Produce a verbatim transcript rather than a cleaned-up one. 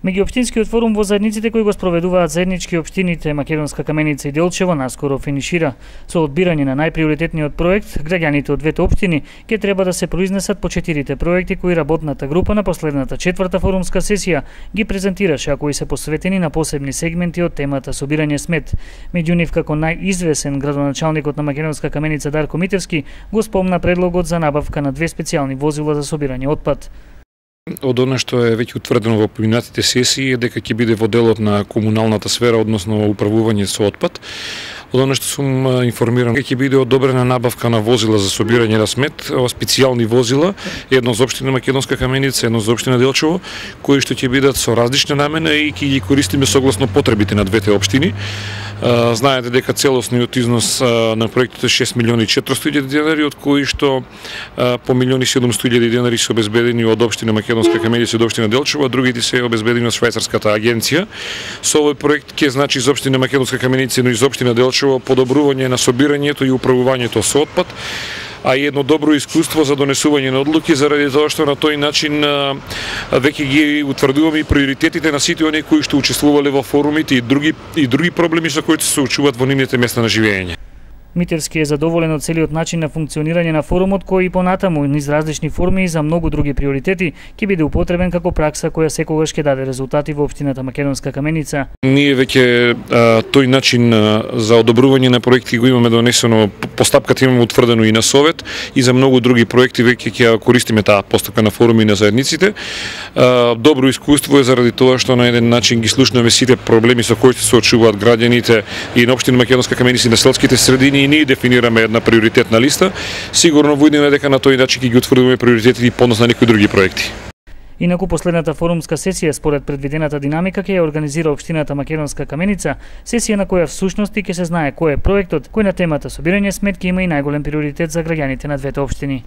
Меѓуопштинскиот форум во заедниците кои го спроведуваат заеднички општините Македонска Каменица и Делчево наскоро финишира. Со одбирање на најприоритетниот проект, граѓаните од двете општини ќе треба да се произнесат по четирите проекти кои работната група на последната четврта форумска сесија ги презентираше, а кои се посветени на посебни сегменти од темата собирање смет. Меѓу нив како најизвесен градоначалникот на Македонска Каменица Дарко Митевски го спомна предлогот за набавка на две специјални возила за собирање отпад. Од она што е веќе утврдено во поминатите сесии е дека ќе биде во делот на комуналната сфера, односно управување со отпад. Од она што сум информиран, ќе биде одобрена набавка на возила за собирање на смет, специјални возила, едно за општина Македонска Каменица, едно за општина Делчево, кои што ќе бидат со различна намена и ќе ги користиме согласно потребите на двете општини. Знаете дека целосниот износ на проектот е шест милиони и четиристотини илјади денари, од кои што по милион и седумстотини илјади денари се обезбедени од општина Македонска Каменица и од општина Делчево, а другите се обезбедени од швајцарската агенција. Со овој проект ќе значи за општина Македонска Каменица, но и за општина Делчево подобрување на собирањето и управувањето со отпад, а и едно добро искуство за донесување на одлуки, заради тоа што на тој начин веќе ги утврдуваме и приоритетите на сите оние кои што учествувале во форумите и други и други проблеми со кои се соочуваат во нивните места на живење. Митевски е задоволен од целиот начин на функционирање на форумот, кој и понатаму низ различни форми и за многу други приоритети ќе биде употребен како пракса која секогаш ќе даде резултати во општината Македонска Каменица. Ние веќе тој начин а, за одобрување на проекти го имаме донесено, постапката имаме утврдено и на совет, и за многу други проекти веќе ќе користиме таа постапка на форуми на заедниците. А, добро искуство е заради тоа што на еден начин ги слушнаме сите проблеми со кои се соочуваат граѓаните и на општина Македонска Каменица и на селските средини, и ние дефинираме една приоритетна листа. Сигурно во иднина дека на тој начин ќе ги утврдиме приоритетите и понос на некои други проекти. Инаку последната форумска сесија според предвидената динамика ќе ја организира општината Македонска Каменица, сесија на која всушности ќе се знае кој е проектот кој на темата собирање смет ќе има и најголем приоритет за граѓаните на двете општини.